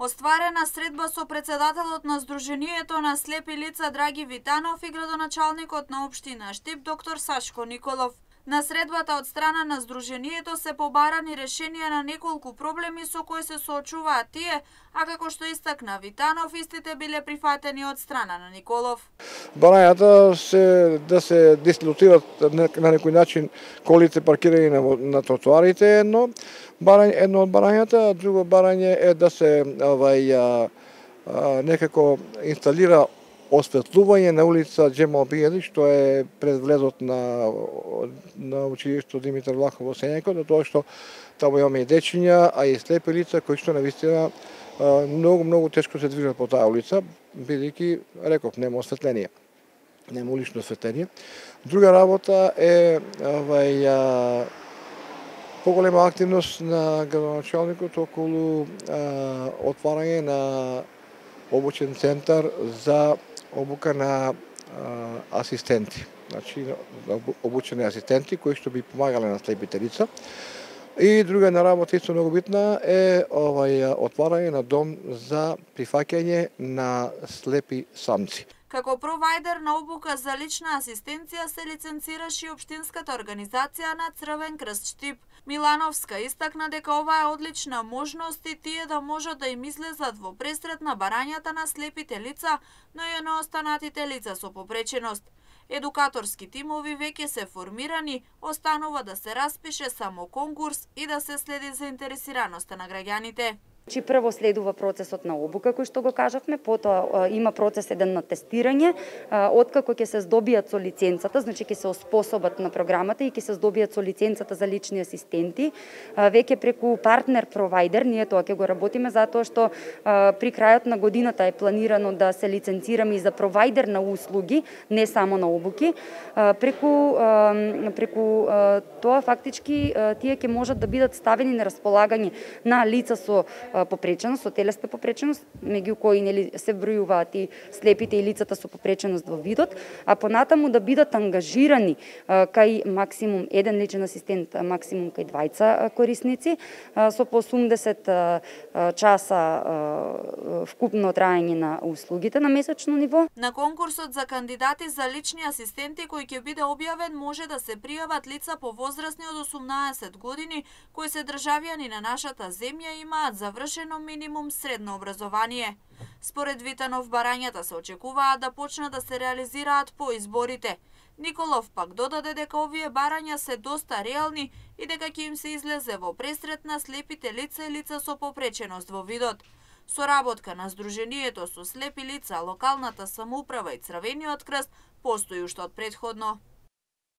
Остварена средба со председателот на Сдруженијето на слепи лица Драги Витанов и градоначалникот на општина Штип доктор Сашко Николов. На средбата од страна на Сдруженијето се побарани решенија на неколку проблеми со кои се соочуваат тие, а како што истакна Витанов, истите биле прифатени од страна на Николов. Барањата да се дислоцираат на некој начин колите паркирани на тротоарите, едно од барањата, друго барање е да се некако инсталира осветлување на улица Џемал Бијели, што е пред влезот на училишто Димитар Влахов во Сењако, затоа што таму имаме и дечиња, а и слепи лица кои што навистина многу тешко се движат по таа улица, бидејќи, реков, нема осветление, нема улично осветление. Друга работа е поголема активност на градоначалникот околу отварање на обучен центар за обука на асистенти. Значи, обучени асистенти кои што би помагале на слепите лица. И друга една работа исто многу битна е отварање на дом за прифаќање на слепи самци. Како провајдер на обука за лична асистенција се лиценцираше и општинската организација на Црвен крст Штип. Милановска истакна дека ова е одлична можност и тие да можат да им излезат во пресрет на барањата на слепите лица, но и на останатите лица со попреченост. Едукаторски тимови веќе се формирани, останува да се распише само конкурс и да се следи заинтересираноста на граѓаните. Прво следува процесот на обука, кој што го кажавме, потоа има процес еден на тестирање, откако ќе се здобијат со лиценцата, значи ќе се оспособат на програмата и ќе се здобијат со лиценцата за лични асистенти, веќе преку партнер провајдер, ние тоа ќе го работиме затоа што при крајот на годината е планирано да се лиценцираме и за провајдер на услуги, не само на обуки. Преку тоа фактички тие ќе можат да бидат ставени на располагање на лица со попреченост, со телесна попреченост, меѓу кои се бројуваат и слепите и лицата со попреченост во видот, а понатаму да бидат ангажирани кај максимум еден личен асистент, максимум кај двајца корисници, со по 80 часа вкупно траење на услугите на месечно ниво. На конкурсот за кандидати за лични асистенти кој ќе биде објавен може да се пријават лица повозрасни од 18 години кои се државјани на нашата земја и имаат завршено минимум средно образование. Според Витанов, барањата се очекуваат да почнат да се реализираат по изборите. Николов пак додаде дека овие барања се доста реални и дека ќе им се излезе во пресрет на слепите лица и лица со попреченост во видот. Соработка на Сдруженијето со слепи лица, локалната самоуправа и Црвениот крст постои уште од претходно.